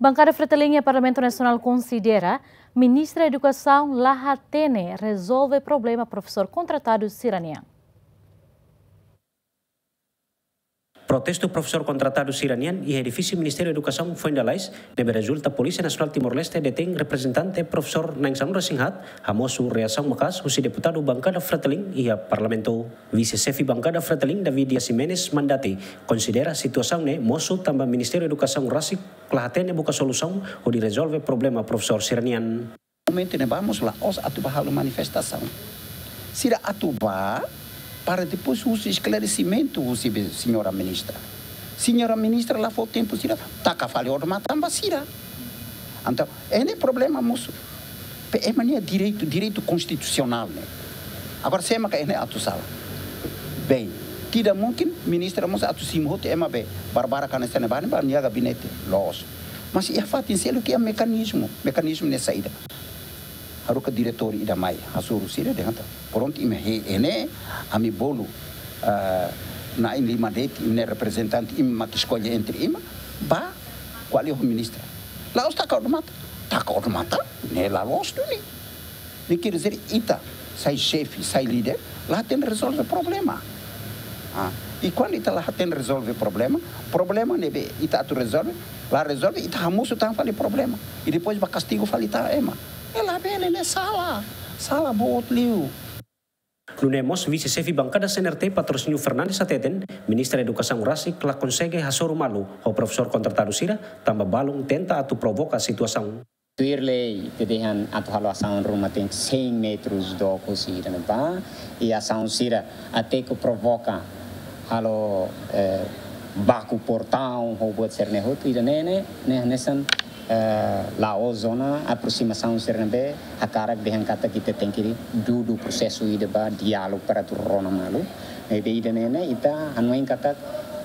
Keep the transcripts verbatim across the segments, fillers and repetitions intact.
Bankada Fretilin iha Parlamentu Nasionál konsidera Ministra Edukasaun la hatene rezolve problema profesór kontratadu sira-nian. Protestu profesór kontratadu sira-nian iha edifísiu Ministériu Edukasaun foin lalais, ne'ebé rezulta Polísia Nasionál Timor-Leste detein reprezentante profesór na'in sanulu-resin-haat, hamosu reasaun maka'as husi deputadu bankada Fretilin iha Parlamentu. Vise-xefe bankada Fretilin, David Dias Ximenes Mandati, konsidera situasaun ne'e mosu tanba Ministériu Edukasaun rasik la hatene buka solusaun hodi rezolve problema profesór sira-nian. Momentu ne'ebá mós la'ós atu bá halo manifestasaun. Sira atu bá para depois husu esklaresimentu husi be-, señora ministra. Señora ministra la fó tempu sira, taka fali odamatan ba sira. Entaun, ne'e problema mosu. Pe ema nia direitu, direitu konstitusionál ne'e. Agora, sé maka ne'e atu sala? Bem, tidak mungkin ministra mós atu simu hotu ema be barbarak hanesan ne'ebá ne'e ba nia gabinete. Loos. Mas iha fatin seluk iha mekanizmu, mekanizmu ne'e saida? Haruka diretór ida mai, hasoru sira dehan katak, prontu, imi hein ne'e, ami bolu, ah, na'in-lima de'it, imi-nia reprezentante, imi mak eskolle entre imi, bá ko'alia ho ministra. La'ós taka odamatan, taka odamatan ne'e la loos duni. Ne'e quer dizer, ita sai xefe, sai líder, la hatene rezolve problema. Ah, i kuandu ita la hatene rezolve problema, problema ne'ebé ita atu rezolve, la rezolve, ita hamosu tan fali problema. I depois bá kastigu fali tan ema. Ne'e labele, ne'e sala. Sala boot liu. Nune'e mós vise-xefe bankada C N R T, Patrocínio Fernandes, hateten, Ministra Edukasaun rasik la konsege hasoru malu ho profesór kontratadu sira, tanba balun tenta atu provoka situasaun. Tuir lei, ita dehan atu halo asaun ruma tenke cem metros dook husi ida-ne'ebá, i asaun sira até ke provoka halo, eh, baku portaun, ho buat sira-ne'e hotu, ida-ne'e ne'e, ne'e hanesan, eh, la'ós ona aproximasaun sira ne'ebé hakarak dehan katak ita tenke dudu prosesu ida ba diálogu para atu rona malu. Ne'ebé ida-ne'e ne'e, ita hanoin katak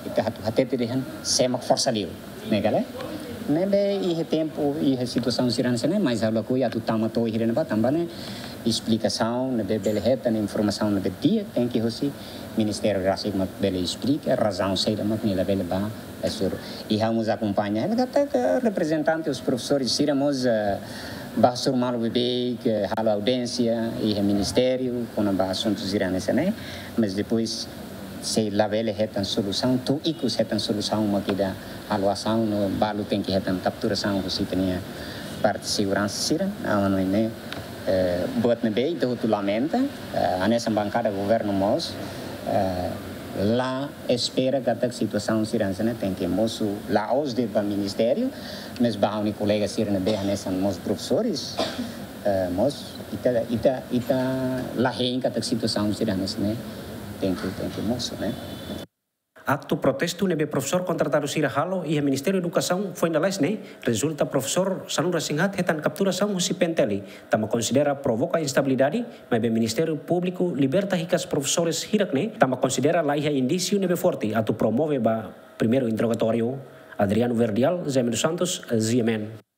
ita atu hatete dehan sé mak forsa liu. Ne'e ka lae? Ne'ebé iha tempu, iha situasaun sira hanesan ne'e, mas ha'u lakohi atu tama to'o iha ne'ebá, tanba ne'e esplikasaun ne'ebé bele hetan, informasaun ne'ebé di'ak, tenke husi ministériu rasik mak bele esplika razaun saida mak nia labele bá hasoru. I ha'u mós akompaña hela katak reprezentante husi profesores sira mós, eh, bá hasoru malu beibeik, halo audiénsia iha ministériu kona-ba asuntu sira hanesan ne'e, mas depois sei labele hetan solusaun, to'o ikus hetan solusaun mak ida halo asaun no balu tenke hetan kapturasaun husi ita-nia parte seguransa sira, ha'u hanoin ne'e, eh, buat ne'ebé ita hotu lamenta, eh, hanesan bankada governu mós, eh, la espera katak situasaun sira hanesan ne'e tenke mosu la'ós de'it ba ministériu, mas ba ha'u-nia kolega sira ne'ebé hanesan mós profesores, eh, mós ita, ita, ita la hein katak situasaun sira hanesan ne'e tenke, tenke mosu, ne'e. Aktu protestu ne'ebé profesór kontratadu sira halo iha Ministériu Edukasaun foin lalais ne'e, rezulta profesór sanulu-resin-haat hetan kapturasaun husi P N T L, tanba konsidera provoka instabilidade, maibé Ministériu Públiku liberta hikas profesores hirak ne'e, tanba konsidera la iha indísiu ne'ebé forte atu promove ba primeiru interrogatóriu. Adriano Verdial, Zé Mendes Santos, G M N.